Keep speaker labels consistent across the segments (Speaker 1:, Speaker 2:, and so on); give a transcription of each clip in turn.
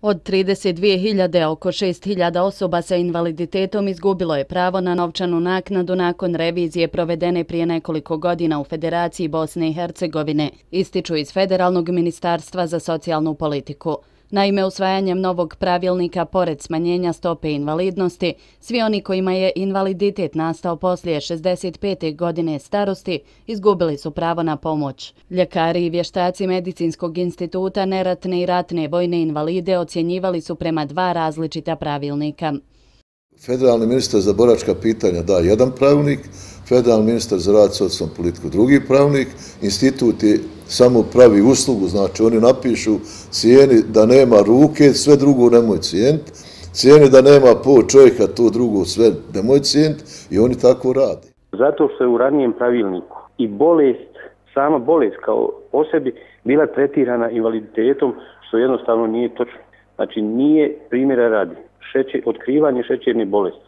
Speaker 1: Od 32.000 oko 6.000 osoba sa invaliditetom izgubilo je pravo na novčanu naknadu nakon revizije provedene prije nekoliko godina u Federaciji Bosne i Hercegovine, ističu iz Federalnog ministarstva za socijalnu politiku. Naime, usvajanjem novog pravilnika, pored smanjenja stope invalidnosti, svi oni kojima je invaliditet nastao poslije 65. godine starosti izgubili su pravo na pomoć. Ljekari i vještaci Medicinskog instituta neratne i ratne vojne invalide ocjenjivali su prema dva različita pravilnika.
Speaker 2: Federalni ministar za boračka pitanja da jedan pravilnik, federalni ministar za rad i socijalnu politiku drugi pravilnik, institut je samo pravi uslugu, znači oni napišu cijeni da nema ruke, sve drugo nemoj cijeniti, cijeni da nema pol čovjeka, to drugo sve nemoj cijeniti i oni tako rade.
Speaker 3: Zato što je u ranijem pravilniku i bolest, sama bolest kao po sebi bila tretirana invaliditetom, što jednostavno nije točno. Znači nije, primjera radi, otkrivanje šećerne bolesti,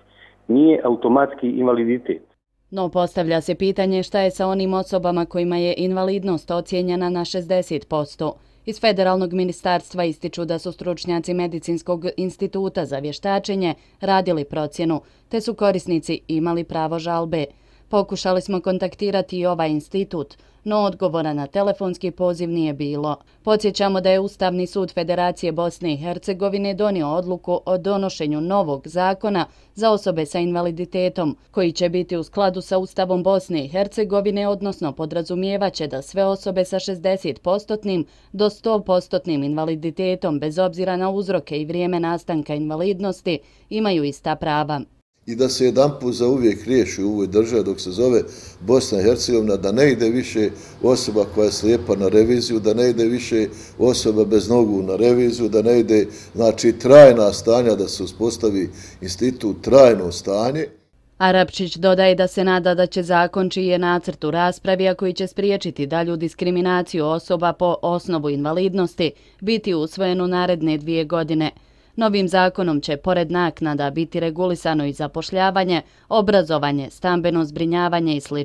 Speaker 3: nije automatski invaliditet.
Speaker 1: No postavlja se pitanje šta je sa onim osobama kojima je invalidnost ocijenjena na 60%. Iz Federalnog ministarstva ističu da su stručnjaci Medicinskog instituta za vještačenje radili procjenu, te su korisnici imali pravo žalbe. Pokušali smo kontaktirati i ovaj institut, no odgovora na telefonski poziv nije bilo. Podsjećamo da je Ustavni sud Federacije Bosne i Hercegovine donio odluku o donošenju novog zakona za osobe sa invaliditetom, koji će biti u skladu sa Ustavom Bosne i Hercegovine, odnosno podrazumijevaće da sve osobe sa 60% do 100% invaliditetom, bez obzira na uzroke i vrijeme nastanka invalidnosti, imaju ista prava.
Speaker 2: I da se jedanput za uvijek riješi u ovoj državi dok se zove Bosna i Hercegovina, da ne ide više osoba koja je slijepa na reviziju, da ne ide više osoba bez nogu na reviziju, da ne ide, znači, trajna stanja, da se uspostavi institut trajno stanje.
Speaker 1: Arapčić dodaje da se nada da će zakon čiji je nacrt u raspravi, a koji će spriječiti dalju diskriminaciju osoba po osnovu invalidnosti, biti usvojen u naredne 2 godine. Novim zakonom će, pored naknada, biti regulisano i zapošljavanje, obrazovanje, stambeno zbrinjavanje i sl.